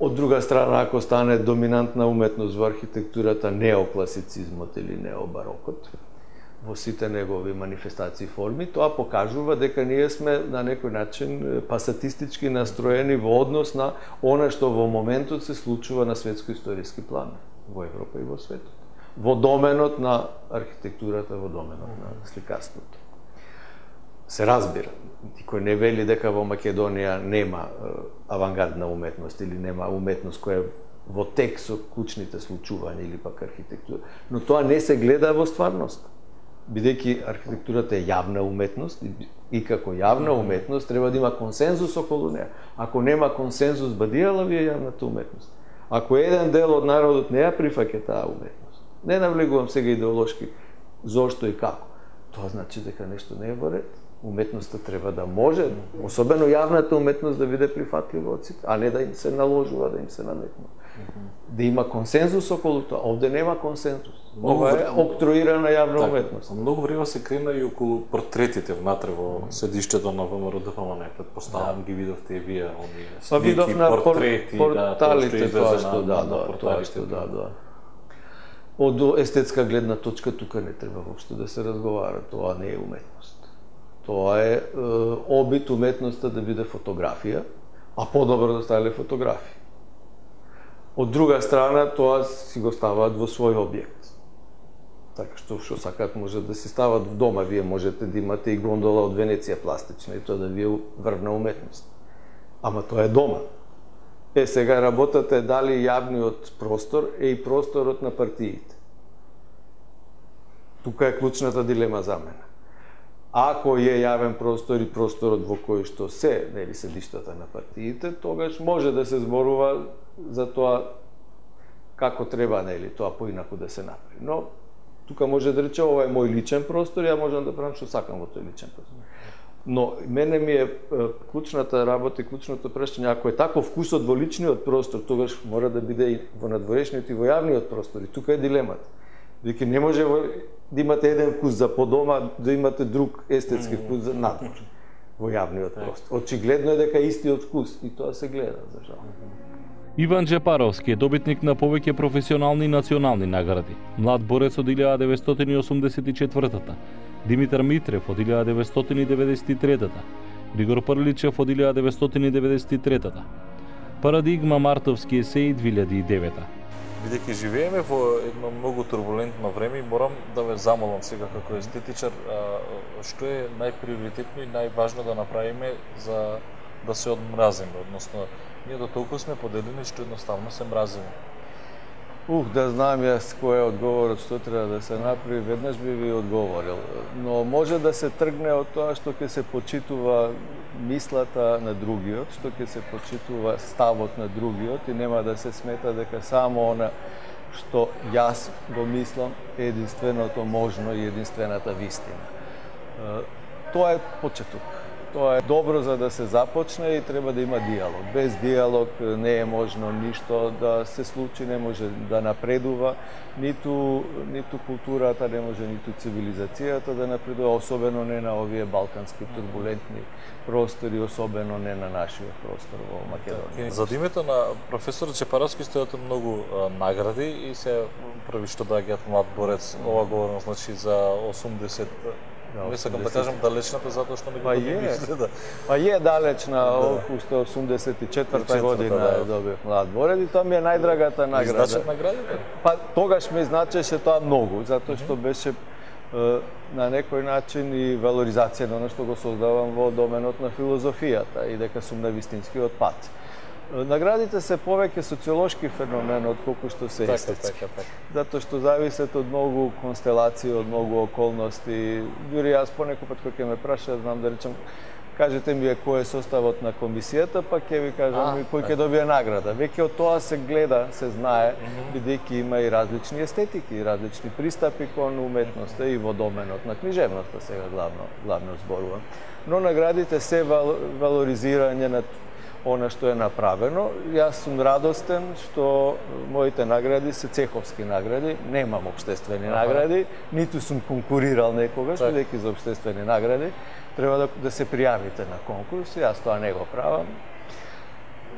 Од друга страна, ако стане доминантна уметност во архитектурата, неокласицизмот или необарокот, во сите негови манифестации и форми, тоа покажува дека ние сме на некој начин пасатистички настроени во однос на она што во моментот се случува на светско-историски план во Европа и во светот. Во доменот на архитектурата, во доменот на сликарството. Се разбира, никој не вели дека во Македонија нема авангардна уметност или нема уметност која во тек со клучните случувања или пак архитектура, но тоа не се гледа во стварност. Бидејќи архитектурата е јавна уметност и како јавна уметност треба да има консензус околу неа. Ако нема консензус, бадијала ви е јавната уметност. Ако еден дел од народот не ја прифаќа таа уметност, не навлегувам сега идеолошки зошто и како, тоа значи дека нешто не е во ред. Уметноста треба да може, особено јавната уметност, да биде прифатлива од сите, а не да им се наложува, да им се наметнува. Да има консензус околу тоа. Овде нема консензус. Ова е октруирана јавна так, уметност. Многу време се крена и околу портретите внатре во седиштето на ВМРО-ДПМН. Предпоставам ги видовте и вие оние слики, портрети, порталите, тоа што да, да, тоа што да, да. Од естетска гледна точка тука не треба воопшто да се разговара, тоа не е уметност. Тоа е, е обид уметноста да биде фотографија, а подобро да ставиле фотографии. Од друга страна, тоа си го ставаат во свој објект. Така што што сакаат може да се стават в дома, вие можете да имате и гондола од Венеција пластична и тоа да ви е врвна уметност. Ама тоа е дома. Е, сега работата е дали јавниот простор е и просторот на партиите. Тука е клучната дилема за мене. Ако е јавен простор и просторот во кој што се, нели, седиштата на партиите, тогаш може да се зборува за тоа како треба, нели, тоа поинаку да се направи. Но тука може да рече ова е мој личен простор, ја можам да правам што сакам во тој личен простор. Но мене ми е клучната работа и клучното прашање, ако е таков вкусот во личниот простор, тогаш мора да биде и во надворешниот и во јавниот простор. И тука е дилемата. Веќе не може да имате еден вкус за по дома, да имате друг естетски вкус за надвор во јавниот простор. Очигледно е дека истиот вкус и тоа се гледа, за жал. Иван Джепаровски е добитник на повеќе професионални и национални награди. Млад борец од илјада деветстотини и осумдесет и четвртата, Димитар Митрев од илјада деветстотини и деветдесет и третата, Григор Прличев од илјада деветстотини и деветдесет и третата, Парадигма Мартовски есеи две илјади и девета. Бидејќи живееме во едно многу турбулентно време, морам да ве замолам сега како естетичар, што е најприоритетно и најважно да направиме за да се одмразиме, односно ние до толку сме поделени што едноставно се мразиме. Ух, да знам јас кој е одговорот што треба да се направи, веднаш би ви одговорил. Но може да се тргне од тоа што ќе се почитува мислата на другиот, што ќе се почитува ставот на другиот и нема да се смета дека само она што јас го мислам е единственото можно и единствената вистина. Тоа е почеток. Тоа е добро за да се започне и треба да има диалог. Без диалог не е можно ништо да се случи, не може да напредува, ниту, ниту културата, не може ниту цивилизацијата да напредува, особено не на овие балкански турбулентни простори, особено не на нашиот простор во Македонија. За името на професор Чепаровски стојат многу а, награди и се први што доаѓаат млад борец, ова говорам значи за осумдесет. Не сакам да кажам далечната, затоа што не го мислите да... Па е далечна, уште осумдесет и четврта година добив млад борец и тоа ми е најдрагата награда. Значат наградите? Па тогаш ми значеше тоа многу, затоа што беше на некој начин и валоризација на оно што го создавам во доменот на филозофијата и дека сум на вистинскиот пат. Наградите се повеќе социолошки феномен отколку што се естетски. Затоа што зависат од многу констелации, од многу околности. Дури јас понекој пат кога ќе ме праша, знам да речам, кажете ми кој е составот на комисијата, па ќе ви кажам кој ќе добие награда. Веќе од тоа се гледа, се знае, бидејќи има и различни естетики, и различни пристапи кон уметноста и во доменот на книжевноста сега главно, главно зборувам. Но наградите се валоризирање на она што е направено. Јас сум радостен што моите награди се цеховски награди, немам општествени награди, ниту сум конкурирал некогаш, бидејќи за општествени награди треба да, да се пријавите на конкурс, јас тоа не го правам.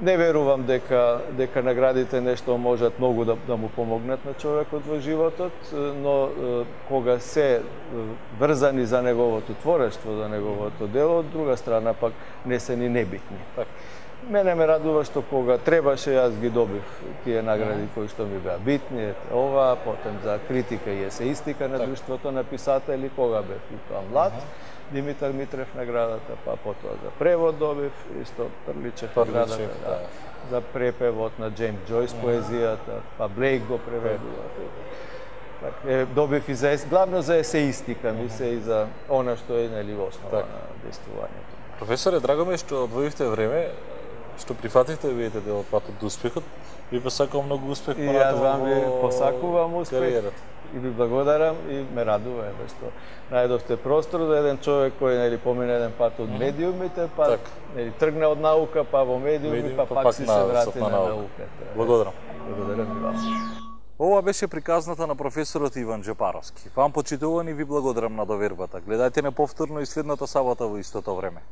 Не верувам дека дека наградите нешто можат многу да, да му помогнат на човекот во животот, но кога се врзани за неговото творештво, за неговото дело, од друга страна пак не се ни небитни. Мене ме радува што кога требаше јас ги добив тие награди кои што ми беа битни, ова, потем за критика и есеистика на друштвото на писатели, кога бев и тоа млад, Димитар Митрев наградата, па потоа за превод добив, исто Прличев наградата, да, за препевот на Джеймс Џојс поезијата, па Блейк го преведува. Е, добив и за, главно за есеистика, ми се и за она што е нели основа на действувањето. Професоре, драго ми е што одвоивте време, што прифативте видите дел патот до успехот. Ви посакувам многу успех по натаму. И јас вам ви посакувам успех. И ви благодарам и ме радува е што најдовте простор за еден човек кој нели помине еден пат од медиумите, па так. Нели тргне од наука, па во медиуми, медиум, па, па пак, пак си се врати на, на науката. Благодарам. Благодарам и вас. Ова беше приказната на професорот Иван Џепаровски. Вам почитувани ви благодарам на довербата. Гледајте не повторно и следната сабота во истото време.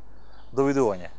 Довидување.